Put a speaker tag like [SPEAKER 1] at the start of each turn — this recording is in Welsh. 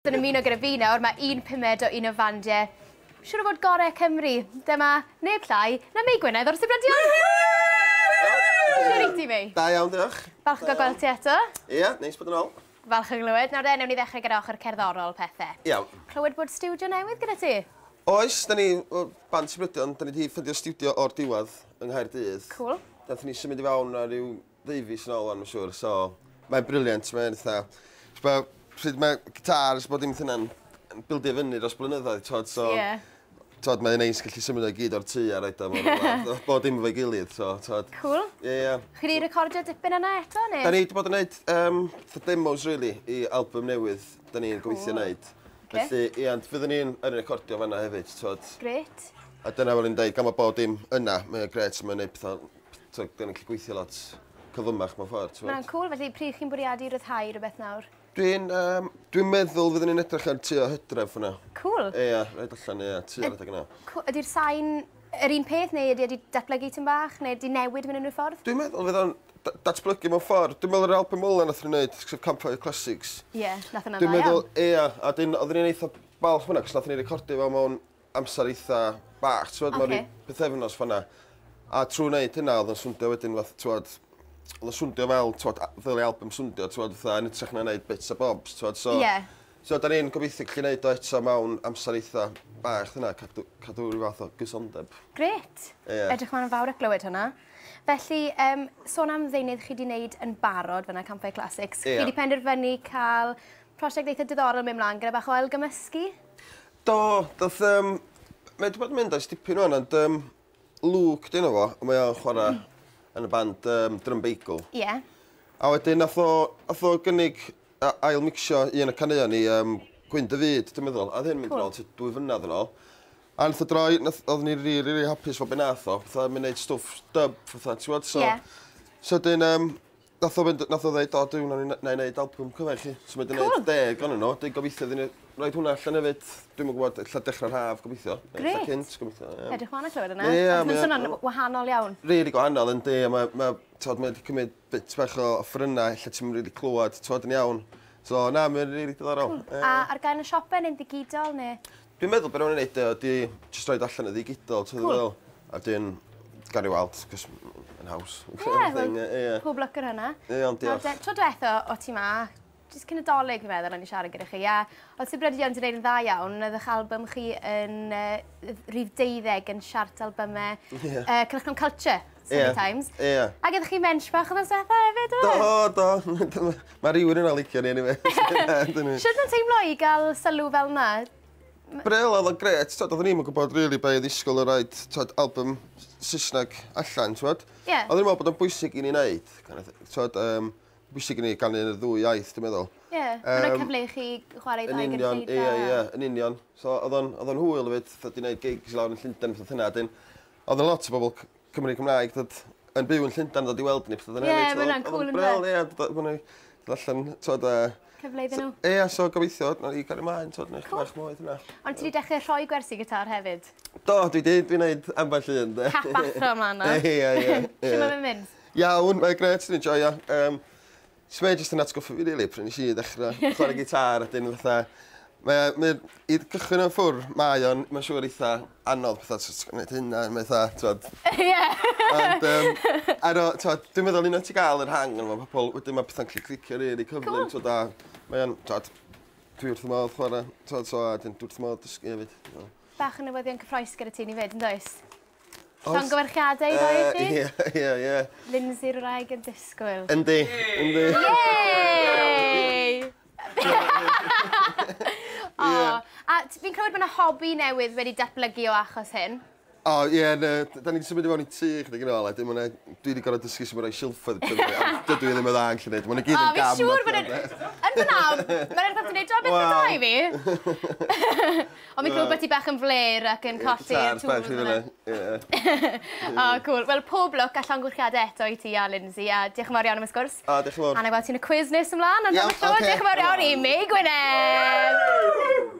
[SPEAKER 1] Yn ymuno gyda fi nawr, mae un pumed o un o fandiau siŵr o fod gorau Cymru. Dyma neb llai na Mei Gwynedd o'r Sibrydion. Shwt wyt ti, Mei?
[SPEAKER 2] Da iawn, diolch.
[SPEAKER 1] Falch o gael gweld ti eto.
[SPEAKER 2] Ie, yeah, neis bod yn ôl.
[SPEAKER 1] Falch o glywed. Nawr de, newn ni ddechrau gyda ochr cerddorol pethau.
[SPEAKER 2] Iawn.
[SPEAKER 1] Clywed bod stiwdio newydd gyda ti?
[SPEAKER 2] Oes, da ni, o, band Sibrydion, da ni wedi ffeindio stiwdio o'r diwedd yng Nghaerdydd.
[SPEAKER 1] Cool.
[SPEAKER 2] Dathon ni symud i fewn ar ryw ddeufis yn ôl, wan, mae'n siŵr, so mae'n brilliant, mae'n eitha... Pryd mae gitars, bod dim hynna'n bildio fyny dros blynyddoedd, t'wod, so...
[SPEAKER 1] Ie.
[SPEAKER 2] T'wod, mae'n neis gallu symud o'i gyd o'r tŷ a roed o mewn rhywle. Bod dim efo'i gilydd, so, t'wod.
[SPEAKER 1] Cool.
[SPEAKER 2] Ie, ie.
[SPEAKER 1] Chi wedi recordio dipyn yna eto, neu?
[SPEAKER 2] Da ni wedi bod yn neud fatha demos, really, i album newydd da ni'n gobeithio neud.
[SPEAKER 1] Ocê.
[SPEAKER 2] Felly, ie, ond fyddwn ni'n yn recordio fanna hefyd, t'wod.
[SPEAKER 1] Grêt.
[SPEAKER 2] A dyna fel ni'n deud, gan mae bod dim yna, mae'n grêt, mae'n neud pethau, t'wod, da ni'n gallu gweithio lot cyflymach mewn ffordd, t'wod.
[SPEAKER 1] Mae'n cool, felly pryd chi'n bwriadu rhyddhau rhywbeth nawr?
[SPEAKER 2] Dwi'n dwi meddwl fyddwn ni'n edrych ar tua hydref hwnna.
[SPEAKER 1] Cool.
[SPEAKER 2] Ie, rhaid allan, ie, tua adeg yna.
[SPEAKER 1] Cool. Ydy'r sain yr un peth, neu ydy wedi datblygu tipyn bach, neu ydy newid mewn unrhyw ffordd?
[SPEAKER 2] Dwi'n meddwl fydd o'n datblygu mewn ffordd. Dwi'n meddwl yr album ola nath ni'n neud, sef Campfire Classics.
[SPEAKER 1] Ie, yeah, nath hwnna'n
[SPEAKER 2] Dwi'n
[SPEAKER 1] dda
[SPEAKER 2] meddwl,
[SPEAKER 1] iawn.
[SPEAKER 2] ie, a dyn, oedden ni'n eitha balch hwnna, cos nath ni recordio fo mewn amser eitha bach, ti'n mewn
[SPEAKER 1] Ocê.
[SPEAKER 2] ryw pythefnos fan'na. A trwy wneud hynna, oedd o'n swndio wedyn fath, t'wod, oedd o'n swndio fel, t'wod, ddylai album swndio, t'wod, fatha, yn hytrach na wneud bits a bobs, t'wod, so...
[SPEAKER 1] Ie.
[SPEAKER 2] So, da ni'n gobeithio gallu wneud o eto mewn amser eitha bach, hynna, cadw rhyw fath o gysondeb.
[SPEAKER 1] Grêt.
[SPEAKER 2] Ie.
[SPEAKER 1] Edrych mlaen yn fawr at glywed hwnna. Felly, sôn am ddeunydd chi wedi wneud yn barod fyna, Campfire Classics.
[SPEAKER 2] Ie.
[SPEAKER 1] Chi wedi penderfynu cael prosiect eitha diddorol mynd mlaen gyda bach o ailgymysgu?
[SPEAKER 2] Do, dath, mae wedi bod yn mynd ers dipyn wan, ond Luke, dyn fo, a mae o'n chwarae yn y band Drum Bagel.
[SPEAKER 1] Ie.
[SPEAKER 2] A wedyn nath o gynnig ail-mixio un o'r caneuon i Gwyn dy Fyd, dwi'n meddwl. A oedd hyn mynd
[SPEAKER 1] Cool.
[SPEAKER 2] yn ôl tua 2 flynedd yn ôl. A nath o droi, oedden ni rili, rili hapus fo be nath o. Fatha, mynd neud stwff dub, fatha, ti'n gwybod? So,
[SPEAKER 1] Ie.
[SPEAKER 2] so dyn, nath o fynd, nath o ddeud, o, dwi'n na i neud album cyfan chi. So mae 'di
[SPEAKER 1] Cool.
[SPEAKER 2] neud 10 ohonyn nhw. Dwi'n gobeithio iddyn nhw roid hwnna allan hefyd. Dwi'm yn gwybod, ella dechrau'r haf, gobeithio. Neu ella
[SPEAKER 1] Grêt.
[SPEAKER 2] cynt, gobeithio. Ie.
[SPEAKER 1] Edrych mlaen at clywed hwnna.
[SPEAKER 2] Ie,
[SPEAKER 1] Achos Mae'n
[SPEAKER 2] mae o-
[SPEAKER 1] swnio'n wahanol iawn.
[SPEAKER 2] Rili gwahanol, yndi, a mae, t'od, mae wedi cymryd bit bach o offerynnau, ella ti'm rili clywed, t'od, yn iawn. So, na, mae'n rili diddorol. Ie.
[SPEAKER 1] A ar gael yn y siopau neu'n ddigidol, neu?
[SPEAKER 2] Dwi'n meddwl be rwy'n neud ydi jyst roid allan y ddigidol, ti'n
[SPEAKER 1] Cool.
[SPEAKER 2] meddwl? A dyn, gawn ni weld, cos yn haws.
[SPEAKER 1] Ie, wel,
[SPEAKER 2] Ie,
[SPEAKER 1] pob lwc ar hwnna.
[SPEAKER 2] Ie, ond diolch.
[SPEAKER 1] Nawr de, tro diwetha o ti ma, jyst cyn y Dolig fi'n meddwl, o'n i siarad gyda chi, a oedd Sibrydion wedi gwneud yn dda iawn, oedd eich album chi yn rhif 12 yn siart albymau
[SPEAKER 2] Ie.
[SPEAKER 1] Cylchgrawn Culture, Sunday
[SPEAKER 2] Ie.
[SPEAKER 1] Times.
[SPEAKER 2] Ie.
[SPEAKER 1] Ac ydych chi mensh bach oedd diwetha hefyd, oedd?
[SPEAKER 2] Do, do. Mae rhywun yna licio ni, anyway.
[SPEAKER 1] Sut mae'n teimlo i gael sylw fel yna?
[SPEAKER 2] Bril, oedd o'n grêt, t'od, oedden ni'm yn gwybod really be i ddisgwyl o roid, t'od, album Saesneg allan, t'wod.
[SPEAKER 1] Ie.
[SPEAKER 2] Oedden ni'n meddwl bod o'n bwysig i ni wneud, kind of thing, t'wod, bwysig i ni ganu yn y ddwy iaith, dwi'n meddwl.
[SPEAKER 1] Ie, mae'n rhoi cyfle i chi chwarae i
[SPEAKER 2] Yn
[SPEAKER 1] ddau
[SPEAKER 2] union,
[SPEAKER 1] gynulleidfa.
[SPEAKER 2] ie, ie, yn union. So, oedd o'n hwyl hefyd, fatha di wneud gigs lawr yn Llundain, fatha hynna, dyn, oedd 'na lot o bobl Cymru Cymraeg dod yn byw yn Llundain dod i weld ni, pethau
[SPEAKER 1] Ie,
[SPEAKER 2] hefyd. So,
[SPEAKER 1] ma' hwnna'n
[SPEAKER 2] oedd
[SPEAKER 1] cool,
[SPEAKER 2] o'n
[SPEAKER 1] ynde?
[SPEAKER 2] bril, ie, dod ma' nhw dod allan, t'wod,
[SPEAKER 1] Cyfle iddyn nhw.
[SPEAKER 2] Ie, so gobeithio, na i gario ymlaen, t'wod, neu
[SPEAKER 1] Cool.
[SPEAKER 2] bach mwy hynna.
[SPEAKER 1] Ond ti wedi dechrau rhoi gwersi gitar hefyd?
[SPEAKER 2] Do, dwi di, dwi'n neud ambell un, de.
[SPEAKER 1] Cap athro ymlaen na.
[SPEAKER 2] Ie, ie, ie.
[SPEAKER 1] Shwt mae'n mynd?
[SPEAKER 2] Iawn, mae'n grêt, dwi'n joio. So mae jyst yn atgoffa fi, really, pryd nes i ddechrau chwarae gitar, a dyn fatha... Mae, i gychwyn o'n ffwr, mae o'n, mae'n siŵr eitha anodd, fatha, ti'n gwneud hynna, mae'n eitha, t'wod.
[SPEAKER 1] Ie.
[SPEAKER 2] Ond, ar o, t'wod, dwi'n meddwl unwaith ti gael yr hang, mae pobl, wedyn mae pethau'n gallu clicio rili cyflym,
[SPEAKER 1] Cool.
[SPEAKER 2] t'wod, a mae o'n, t'wod, dwi wrth fy modd chwarae, t'wod, so, a dyn, dwi wrth fy modd dysgu hefyd. So.
[SPEAKER 1] Bach o newyddion cyffrous gyda ti ni fyd, yn does?
[SPEAKER 2] Oes.
[SPEAKER 1] Llongyfarchiadau i ddoi chi?
[SPEAKER 2] Ie, ie, ie.
[SPEAKER 1] Lindsay'r wraig yn disgwyl.
[SPEAKER 2] Yndi, yndi.
[SPEAKER 1] Yay! O, a fi'n clywed bod yna hobi newydd wedi datblygu o achos hyn.
[SPEAKER 2] O, ie, na, da ni wedi symud i mewn i tŷ chydig yn ôl, a dim ond dwi wedi gorfod dysgu sut ma' rhoi silffoedd i fyny, a dydw i ddim yn dda yn gallu neud, maen nhw gyd
[SPEAKER 1] O,
[SPEAKER 2] yn
[SPEAKER 1] fi'n
[SPEAKER 2] gam.
[SPEAKER 1] siŵr bod yn... Yn fyna, mae'n edrych fel ti'n neud job eitha da i fi. Ond fi'n clywed bod ti bach yn fler ac yn colli'r
[SPEAKER 2] Gitars bach i
[SPEAKER 1] tools
[SPEAKER 2] fyny,
[SPEAKER 1] yna.
[SPEAKER 2] ie.
[SPEAKER 1] O, cool. Wel, pob lwc a llongyfarchiadau eto i ti a Lindsay, a diolch yn fawr iawn am y sgwrs.
[SPEAKER 2] O, diolch yn fawr.
[SPEAKER 1] A na i weld ti'n y quiz nes ymlaen, ond
[SPEAKER 2] Iawn,
[SPEAKER 1] am y tro,
[SPEAKER 2] ocê.
[SPEAKER 1] diolch yn fawr iawn i Mei Gwynedd!